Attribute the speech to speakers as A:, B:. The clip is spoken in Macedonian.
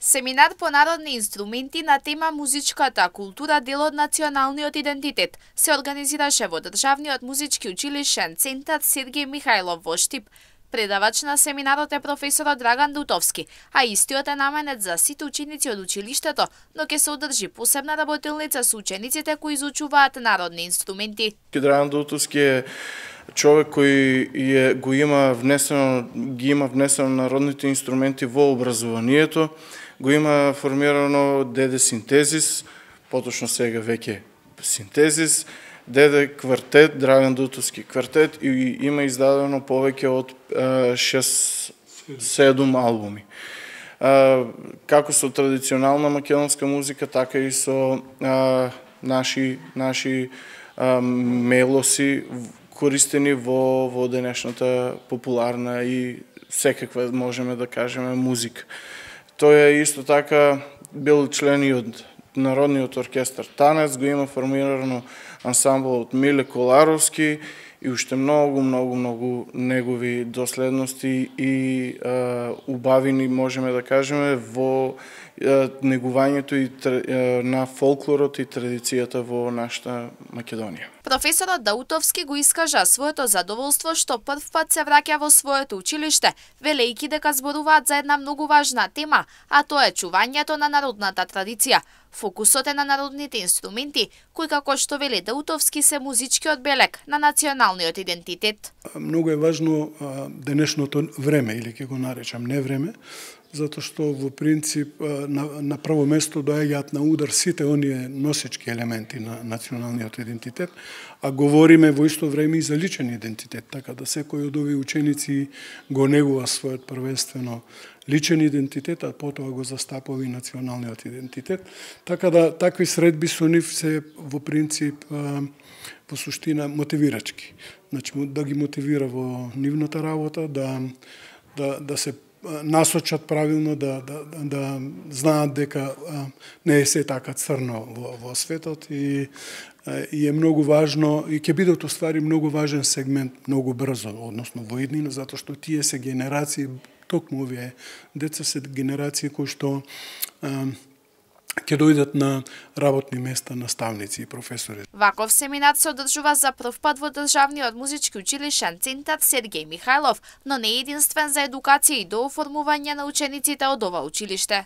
A: Семинар по народни инструменти на тема музичката култура дел од националниот идентитет се организираше во Државниот музички училишен центар Сергеј Михајлов во Штип. Предавач на семинарот е професорот Драган Дутовски, а истиот е наменет за сите ученици од училиштето, но ќе се одржи посебна работилница со учениците кои изучуваат народни инструменти.
B: Драган Дутовски е човек кој ги има внесено народните инструменти во образованието, го има формирано деде синтезис, поточно сега веќе синтезис, деде квартет, Драган Дутовски квартет и има издадено повеќе од 6-7 албуми. Како со традиционална македонска музика, така и со наши мелоси користени во денешната популарна и секаква, можеме да кажеме, музика. Тој е исто така бил член и од Народниот оркестар Танец, го има формирано ансамбл од Миле Коларовски и уште многу негови доследности и убавини, можеме да кажеме, во негувањето на фолклорот и традицијата во нашата Македонија.
A: Професорот Даутовски го искажа своето задоволство што прв пат се враќа во своето училиште, велејќи дека зборуваат за една многу важна тема, а тоа е чувањето на народната традиција. Фокусот е на народните инструменти, кои, како што вели Даутовски, се музичкиот белег на националниот идентитет.
C: Многу е важно денешното време, или ќе го наречам невреме, затоа што во принцип на прво место доаѓаат на удар сите оние носечки елементи на националниот идентитет, а говориме во исто време и за личен идентитет, така да секој од овие ученици го негува својот првенствено личен идентитет, а потоа го застапува и националниот идентитет. Така да такви средби со нив се во принцип во суштина мотивирачки. Значи да ги мотивира во нивната работа, да се насочат правилно, да знаат дека не е се така црно во светот и е многу важно и ќе бидат уствари многу важен сегмент многу брзо, односно во иднина, затоа што тие се генерации, токму овие деца се генерации кои што ќе дојдат на работни места наставници и професори.
A: Ваков семинар се одржува за прв пат во Државниот музички училишен центар Сергеј Михајлов, но не е единствен за едукација и дооформување на учениците од ова училиште.